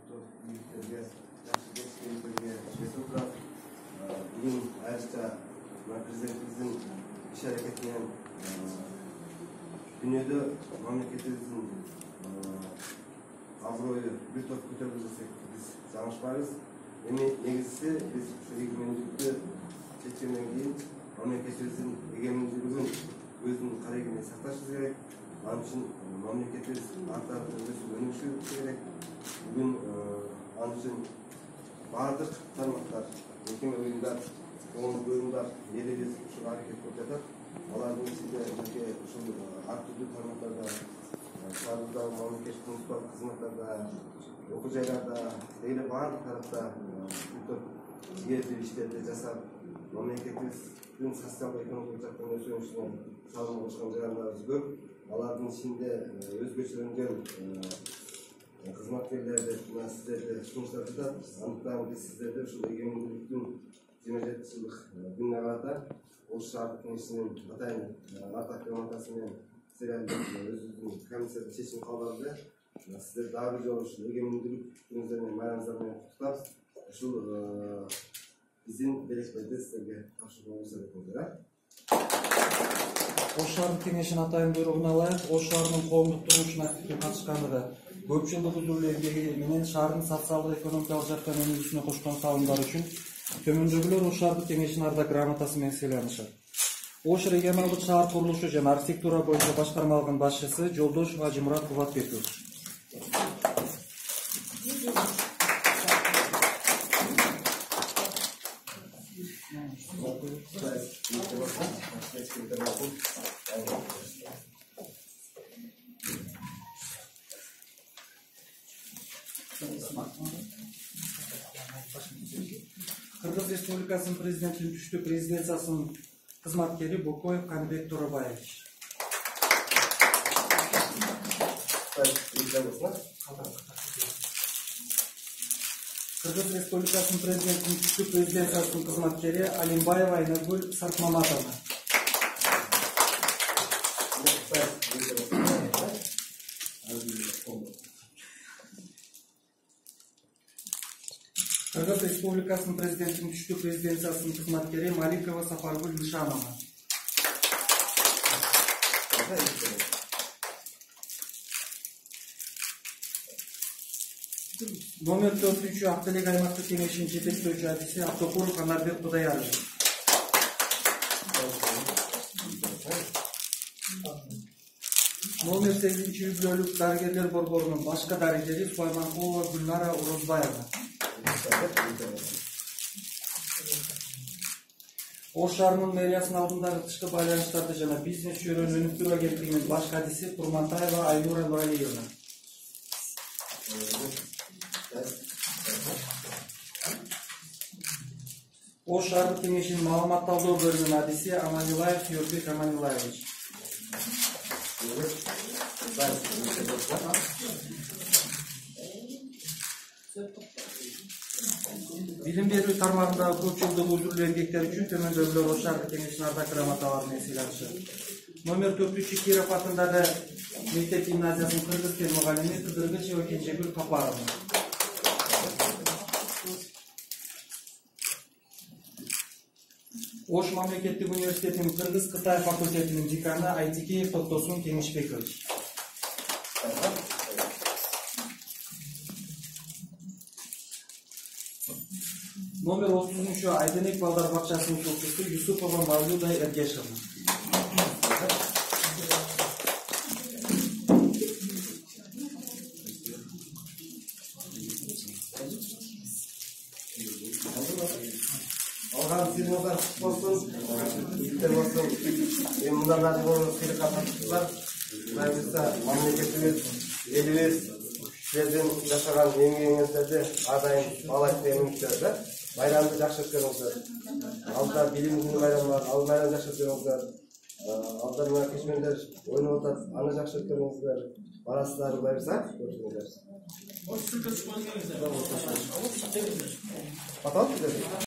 Бүгін айрықша президентіміздің іс әрекетінен дүниеде мемлекетіміздің абыройы бір топ көтерілді десек біз жаңылышпаймыз. Негізгісі біз егемендікті шешкеннен кейін мемлекетіміздің егеменділігін өзінің қарегіне сақташымыз керек. Анын үчүн мамлекетибиз артта өнүгүшү керек. Бүгүн анын үчүн баардык тармактар, мекеме уюмдар, коомдук уюмдар элибиз ушул аракет кылып жатат. Алардын ичинде бизге ушул ар түрдүү тармактарда, шаардагы мамлекеттик муниципалдык кызматтарда, окуу жайларда, эле баардык тарапта жигердүү иштерди жасап, мамлекетибиздин социалдык экономикалык жактан өсүүсүнө салым кошкон жарандарыбыз көп. Алардын ичинде өзгөчөлөнгөн кызматкерлерди сиздерди сунуштап жатат. Андыктан биз сиздерди ушул эгемендүүлүктүн 27 жылдык күнүнө карата Ош шаардык кеңешинин атайын артак грамотасы менен өзүбүздүн комиссияда чечим кабыл алды. Сиздер дагы бир жолу ушул эгемендүүлүк күнүңүздөр менен майрамыңыздар менен куттуктап, ушул биздин белеспайды сиздерге тапшырууга уруксат этиңиздер. Ош шаардык кеңешинин атайын буйругуна ылайык, Ош шаарынын коомдук турмушуна активдүү катышкандыгы, көп жылдык үзүлүү эмгеги менен шаардын социалдык экономикалык жактан өнүгүүсүнө кошкон салымдары үчүн төмөндөгүлөр Ош шаардык кеңешинин ардак грамотасы менен сыйланышат. Ош регионалдык шаар курулушу жана архитектура боюнча башкармалыгынын башчысы Жолдошов Ажимурат Кубатбекович. Кыргыз Республикасынын президентинин түштүк резиденциясынын кызматкери Бокоев Канбек Торобаевич. Кыргыз Республикасынын президентинин түштүк резиденциясынын кызматкери Алимбаева Айнагүл Сартмаматовна. Кыргыз Республикасынын президентинин түштүк резиденциясынын кызматкери Маликова Сапаргүл Нишанова. Номер 4 Актелек аймактык кеңешинин жетектөөчү адиси Автокуров Анарбек Кудаярович. Номер 8 үй-бүлөлүк дарыгерлер борборунун башкы дарыгери Сулайманкулова Гүлнара Орозбаева. Ош шаарынын мэриясынын алдындагы тышкы байланыштарды жана бизнес чөйрөнү өнүктүрүү агенттигинин баш кадиси Курмантаева Айнура Нуралиевна. Ош шаардык кеңешинин маалыматталдоо бөлүмүнүн адиси Аманилаев Юрбек Аманилаевич. Билим берүү тармагындагы көп жылдык үзүлүү эмгектер үчүн төмөндөгүлөр Ош шаардык кеңешинин ардак грамоталары менен сыйланышат. Номер 4 Киров атындагы мектеп гимназиясынын кыргыз тил мугалими Кыдыргычева Кенжегүл Капаровна. Ош мамлекеттик университетинин кыргыз-кытай факультетинин деканы Айтикеев Токтосун Кеңешбекович. Номер 30 Айденек балдар бакчасынын окуучусу Юсупова Мавлюда Эргешевна. Алган сыйлыктар болсун, иштер болсун, мындан болсун сыйлыкка катышкандар, буюрса мамлекетибиз, элибиз сиздердин жашаган эмгегиңиздерди ар дайым баалайт деген үмүттөбүз. Bayramda жакшы өткөрүңүздөр. Алда билим күнү байрамы бар, ал байрамды жакшы өткөрүңүздөр. Алда мына кечмендер ойноп атат, аны жакшы өткөрүңүздөр. Барасыздар, буюрса көрүшүңүздөр.